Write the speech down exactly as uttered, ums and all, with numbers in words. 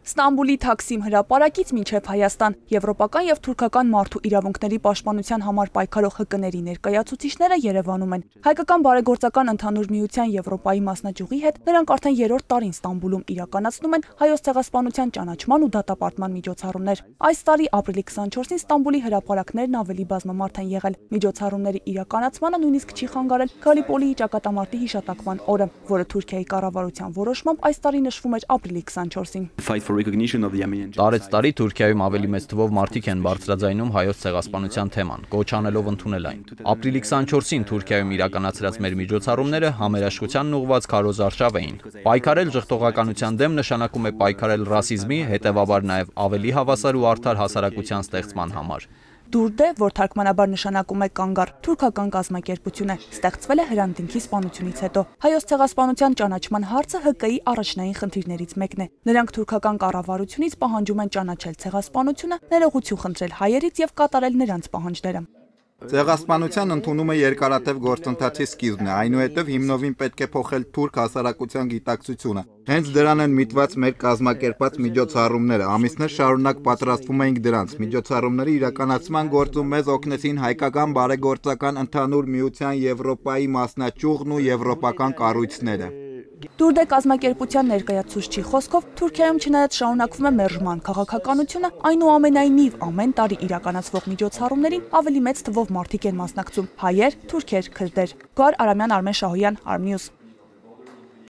Ստամբուլի Թաքսիմ հրապարակից մինչև Հայաստան եվրոպական եւ թուրքական մարդու իրավունքների պաշտպանության համար պայքարող ՀԿ-ների ներկայացուցիչները Երևանում են։ Հայկական բարեգործական ընդհանուր միության Եվրոպայի մասնաճյուղի հետ նրանք արդեն երրորդ տարին Ստամբուլում իրականացնում են հայոց ցեղասպանության ճանաչման ու դատապարտման միջոցառումներ։ Այս տարի ապրիլի քսանչորսին Ստամբուլի հրապարակներն ավելի բազմամարդ են եղել։ Միջոցառումների իրականացմանը նույնիսկ չի խանգարել Գալիպոլիի ճակատամարտի հիշատակման օրը, որը Թուրքիայի կառավարության որոշմամբ այս տարի նշվում էր ապրիլի քսանչորսին։ Տարեցտարի Թուրքիայում ավելի մեծ թվով մարդիկ են բարձրաձայնում հայոց ցեղասպանության թեման, կոչ անելով ընդունել այն։ Ապրիլի քսանչորսին Թուրքիայում իրականացրած մեր միջոցառումները համերաշխությանն ուղղված քարոզարշավ էին։ Պայքարել ժխտողականության դեմ նշանակում է պայքարել ռասիզմի, հետևաբար նաև ավելի հավասար ու արդար հասարակության ստեղծման համար։ Դուրդե, որ թարգմանաբար նշանակում է կանգառ, թուրքական կազմակերպություն է, ստեղծվել է Հրանտինքի սպանությունից հետո։ Հայոց ցեղասպանության ճանաչման հարցը ՀԿ-ի առաջնային խնդիրներից մեկն է։ Նրանք թուրքական կառավարությունից պահանջում են ճանաչել ցեղասպանությունը, ներողություն խնդրել հայերից եւ կատարել նրանց պահանջները։ Ցեղասպանության ընդունումը երկարատև գործընթացի սկիզբն է, այնուհետև հիմնովին պետք է փոխել թուրք հասարակության գիտակցությունը։ Հենց դրան են միտված մեր կազմակերպած միջոցառումները, ամիսներ շարունակ պատրաստվում էինք դրանց։ Միջոցառումների իրականացման գործում մեզ օգնեցին հայկական բարեգործական ընդհանուր միության Եվրոպայի մասնաճյուղն ու եվրոպական կառույցները։ Դուրդե կազմակերպության ներկայացուցչի խոսքով Թուրքիայում չնայած շարունակվում է մերժման քաղաքականությունը, այնուամենայնիվ ամեն տարի իրականացվող միջոցառումներին ավելի մեծ թվով մարդիկ են մասնակցում՝ հայեր, թուրքեր, քրդեր։ Գոհար Արամյան, Արմեն Շահոյան, Արմնյուզ։